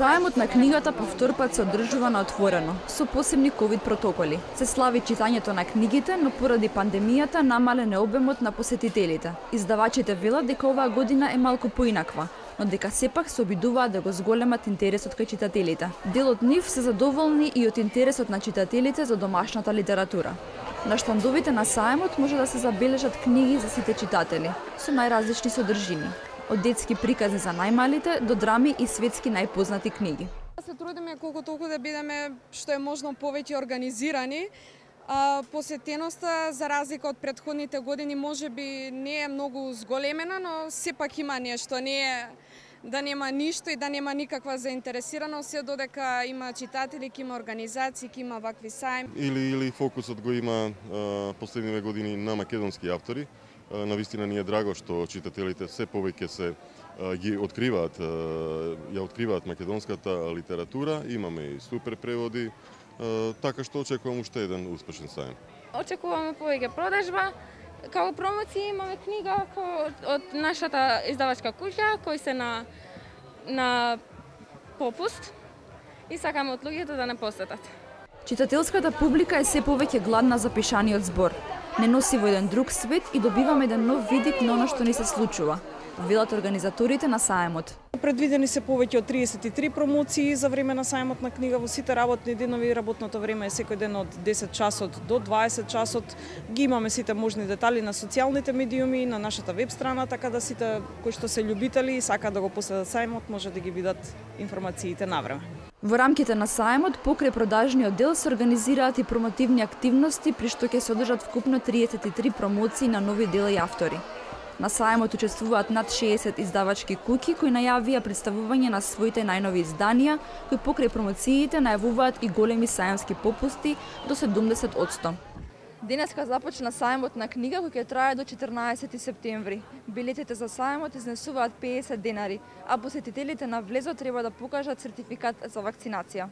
Сајмот на книгата по втор пат се одржува на отворено, со посебни ковид протоколи. Се слави читањето на книгите, но поради пандемијата намален е обемот на посетителите. Издавачите велат дека оваа година е малку поинаква, но дека сепак се обидуваат да го зголемат интересот кај читателите. Дел од нив се задоволни и од интересот на читателите за домашната литература. На штандовите на Сајмот може да се забележат книги за сите читатели, со најразлични содржини. Од детски приказни за најмалите до драми и светски најпознати книги. Се трудиме колку толку да бидеме што е можно повеќе организирани. Посетеноста за разлика од претходните години можеби не е многу зголемена, но сепак има нешто, не е да нема ништо и да нема никаква заинтересираност, се додека има читатели, има организации, има вакви сајми. Или фокусот го има последниве години на македонски автори. Навистина ни е драго што читателите се повеќе се ги откриваат, ја откриваат македонската литература, имаме и супер преводи, така што очекувам уште еден успешен сајм. Очекуваме повеќе продажба. Како промоција имаме книга од нашата издавачка куќа кои се на попуст и сакаме од луѓето да не посетат. Читателската публика е се повеќе гладна за пишаниот збор. Не носи во еден друг свет и добиваме еден нов видик на она што ни се случува, велат организаторите на Сајмот. Предвидени се повеќе од 33 промоции за време на Сајмот на книга во сите работни денови. Работното време е секој ден од 10 часот до 20 часот. Ги имаме сите можни детали на социјалните медиуми, на нашата веб страна, така да сите кои што се љубители и сакаат да го посетат Сајмот може да ги видат информациите навреме. Во рамките на Сајмот, покрај продажниот дел се организираат и промотивни активности, при што ќе се одржат вкупно 33 промоции на нови дела и автори. На Сајмот учествуваат над 60 издавачки куќи кои најавија представување на своите најнови изданија, кои покрај промоциите најавуваат и големи сајмски попусти до 70%. Денеска започна Сајмот на книга кој ќе трае до 14 септември. Билетите за Сајмот изнесуваат 50 денари, а посетителите на влезот треба да покажат сертификат за вакцинација.